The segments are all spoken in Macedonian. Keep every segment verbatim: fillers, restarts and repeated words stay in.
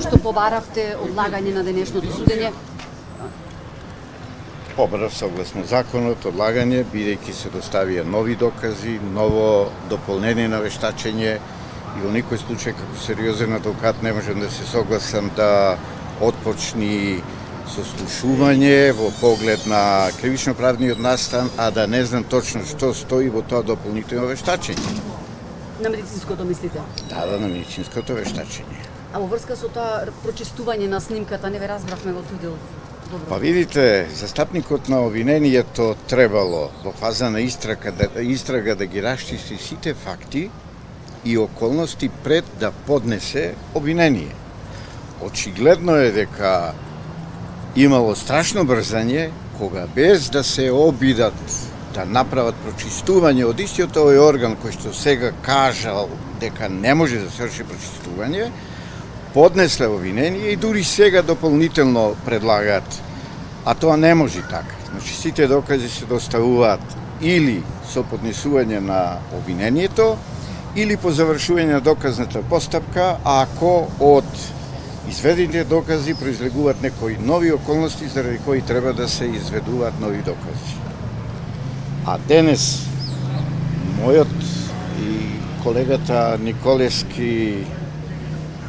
што побаравте одлагање на денешното судење? Побарав согласно законот одлагање, бидејќи се доставија нови докази, ново дополнение на вештачење и во никој случај како сериозен адвокат не можам да се согласам да отпочни сослушување во поглед на кривично-правниот настан, а да не знам точно што стои во тоа дополнително вештачење. На медицинското мислите? Да, да, на медицинското вештачење. А во врска со тоа прочистување на снимката не ве разбравме во тој дел. Добро. Па видите, застапникот на обвинението требало во фаза на истрага да, истрага да ги расчисти сите факти и околности пред да поднесе обвинение. Очигледно е дека имало страшно брзање, кога без да се обидат да направат прочистување од истиот овој орган кој што сега кажал дека не може да се врши прочистување, поднесле обвинение и дури сега дополнително предлагаат, а тоа не може така. Значи сите докази се доставуваат или со поднесување на обвинението, или по завршување на доказната постапка, а ако од изведените докази произлегуваат некои нови околности заради кои треба да се изведуваат нови докази. А денес мојот и колегата Николевски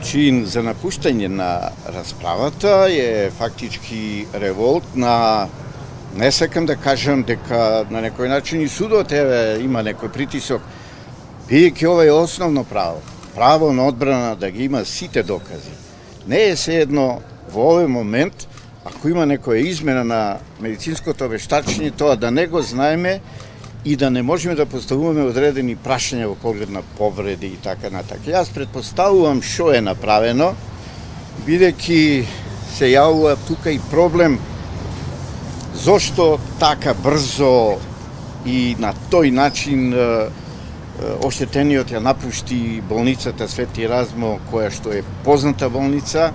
чин за напуштање на расправата е фактички револт на, не сакам да кажам дека на некој начин и судот еве има некој притисок, бидејќи ова е основно право, право на одбрана да ги има сите докази. Не е се едно во овој момент, ако има некоја измена на медицинското вештачење, тоа да не го знаеме и да не можеме да поставуваме одредени прашања во поглед на повреди и така натака. Јас предпоставувам што е направено, бидејќи се јавува тука и проблем зошто така брзо и на тој начин оштетениот ја напушти болницата Свети Размо, која што е позната болница,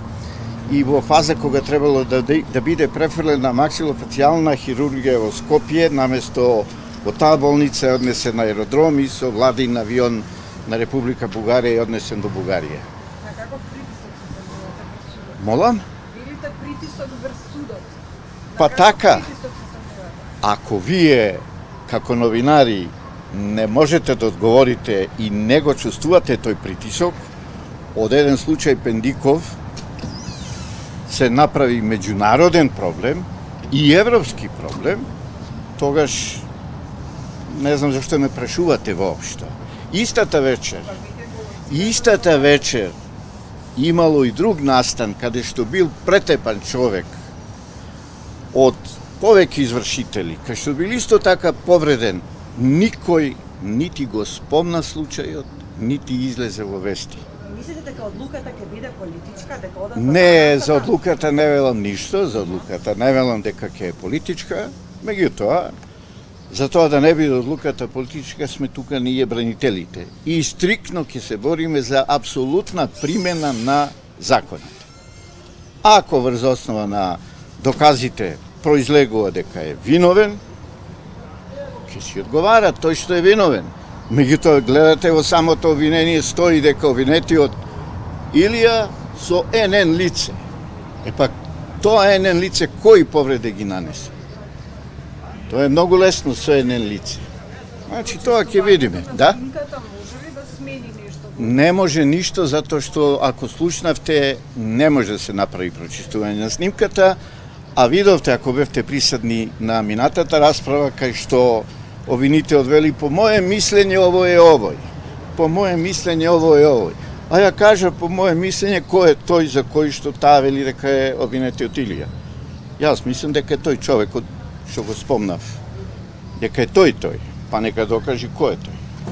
и во фаза кога требало да, да биде префрлена максилофацијална хирургија во Скопје, наместо во таа болница е однесен на аеродром и со владин авион на Република Бугарија е однесен до Бугарија. А каков притисок се самувате врз судот? Молам? Билите притисок врз судот? Па така, ако вие како новинари не можете да одговорите и не го чувствувате тој притисок, од еден случај Пендиков се направи меѓународен проблем и европски проблем, тогаш не знам зашто ме прашувате воопшто. Истата вечер, истата вечер имало и друг настан каде што бил претепан човек од повеќе извршители, кај што бил исто така повреден, никој нити го спомна случајот, нити излезе во вести. Мислите дека одлуката ќе биде политичка, дека одат? Не, за одлуката не велам ништо, за одлуката не велам дека ќе е политичка, меѓутоа, за тоа да не биде одлуката политичка, сме тука ние бранителите. И стрикно ќе се бориме за апсолутна примена на законите. Ако врз основа на доказите произлегува дека е виновен, ќе си одговара тој што е виновен. Меѓутоа, гледате во самото обвинение стои дека обвинетиот Илија со ен ен лице. Е пак, тоа ен ен лице кои повреди ги нанесе? Тоа е многу лесно со ен ен лице. Значи, тоа ќе видиме, да? Снимката може ли да смени нешто? Не може ништо, затоа што, ако слушнавте, не може да се направи прочистување на снимката, а видовте, ако бевте присадни на минатата расправа, кај што обвинителот вели, по моје мислење овој е овој, по моје мислење овој е овој. А ја кажа, по моје мислење, кој е тој за кој што таа вели дека е обвинетиот Илија. Јас мислам дека е тој човекот што го спомнав. Дека е тој тој, па нека докажи кој е тој.